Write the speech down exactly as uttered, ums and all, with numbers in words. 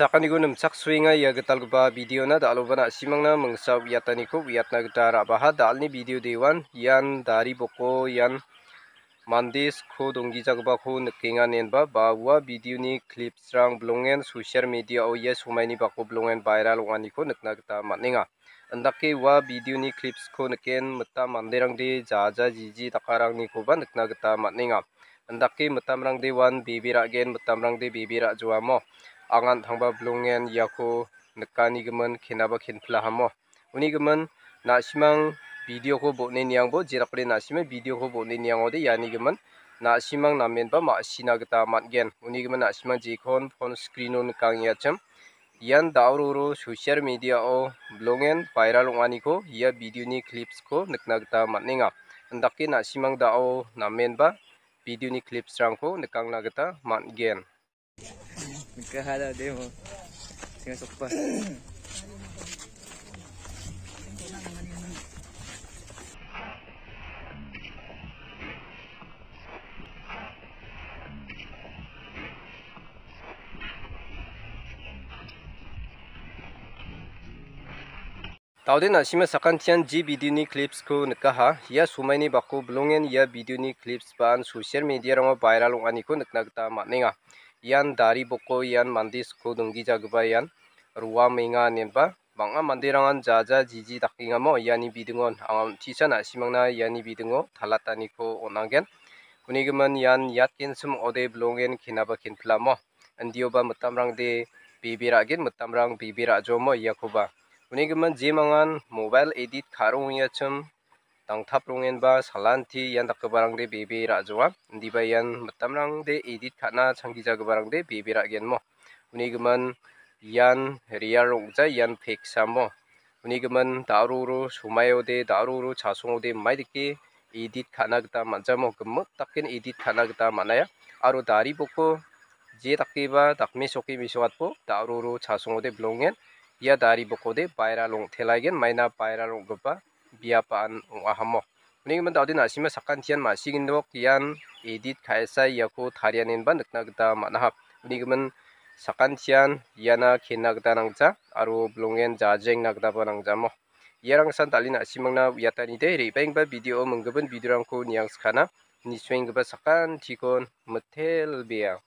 Sakaniko nimchaksoenga ia gitalgipa videona, dal·oba na·simangna mingsa uiataniko uiatna gita ra·baha. Dalni video dewan ian dari boko ian mande sko donggijagipako nikenga inenba ba ua videoni clipsrang bilongen social mediao ia somaini bako bilongen viral ong·aniko nikna gita man·enga. Indake ua videoni clipsko niken mitam manderangde jaja jiji dakaragnikoba nikna gita man·enga. Indake mitamrangde uan bebe ra·gen, mitamrangde bebe ra·joamo. Angan tangba bilongen iako nikanigimin kenaba kenpilahamo. Unigimin na·simang videoko bon·e niangbo, jerakode na·simang videoko bon·e niangode ianigimin na·simang namenba ma·sina gita man·gen. Unigimin na·simang jekon phone screeno nikangengaachim. Ian da·o roro social mediao bilongen viral ong·aniko ia videoni clipsko nikna gita man·enga. Indake na·simang da·o namenba videoni clipsrangko nikangna gita man·gen. Nikaha da demo. Singa sokpa. Daode na·sima sakantian ji videoni clipsko nikaha. Ia somaini bako bilongen ia videoni clips baan social mediarango viral ong·aniko nikna gita man·enga. Ian dari boko, ian mande sko donggijagipa ian roamenga inenba bang·a manderangan jaja jiji dakengamo iani bidingon anga on·tisa na·simangna iani bidingo talataniko on·agen. Unigimin ian yatgensim ong·ode bilongen kenaba kenpilamo. Indioba mitamrangde bebe ra·gen, mitamrang bebe ra·jomo iakoba. Unigimin jemangan mobile edit ka·rongengaachim dangtaprongenba salanti ian dakgiparangde bebe ra·joa. Indiba ian mitamrangde edit ka·na changgijagiparangde bebe ra·genmo. Unigimin ian real ong·ja, ian fake samo. Unigimin da·roro somaode, da·roro chasongode maidake edit ka·na gita man·jamo, gimik daken edit ka·na gita man·aia. Aro dari boko je dakeba dakmesoke mesokatbo da·roro chasongode bilongen ia dari bokode viral ong·telaigen, maina viral ong·gipa biap an ong·ahamo. Unigimin daode na·sima sakantian ma·sigindok ian edit ka·esa iako tarianenba nikna gita man·aha. Unigimin sakantian iana kenna gita nangja aro bilongen jajengna gitaba nangjamo. Iarangsan dal·e na·simangna uiatanide re·baenggipa video minggipin videorangko niangskana. Nisoenggipa sakantikon mitelbea.